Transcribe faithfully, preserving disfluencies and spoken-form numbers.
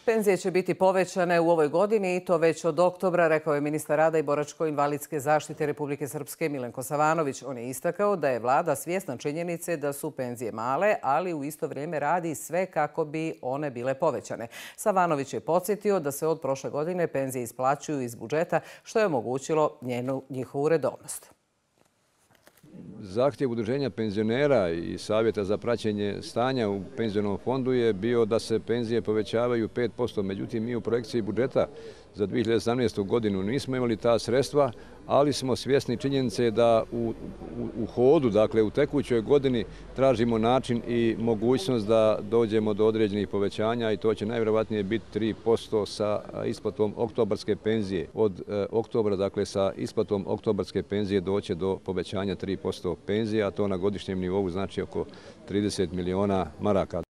Penzije će biti povećane u ovoj godini i to već od oktobra, rekao je ministar rada i boračko-invalidske zaštite Republike Srpske Milenko Savanović. On je istakao da je vlada svjesna činjenice da su penzije male, ali u isto vrijeme radi sve kako bi one bile povećane. Savanović je podsjetio da se od prošle godine penzije isplaćuju iz budžeta, što je omogućilo njenu njihovu redovnost. Zahtjev Udruženja penzionera i Savjeta za praćenje stanja u penzionom fondu je bio da se penzije povećavaju pet posto. Međutim, mi u projekciji budžeta za dvije hiljade sedamnaestu. godinu nismo imali ta sredstva, ali smo svjesni činjenice da u, u, u hodu, dakle u tekućoj godini, tražimo način i mogućnost da dođemo do određenih povećanja i to će najvjerojatnije biti tri posto sa isplatom oktobarske penzije. Od e, oktobra, dakle sa isplatom oktobarske penzije doće do povećanja tri posto penzije, a to na godišnjem nivou znači oko trideset miliona maraka.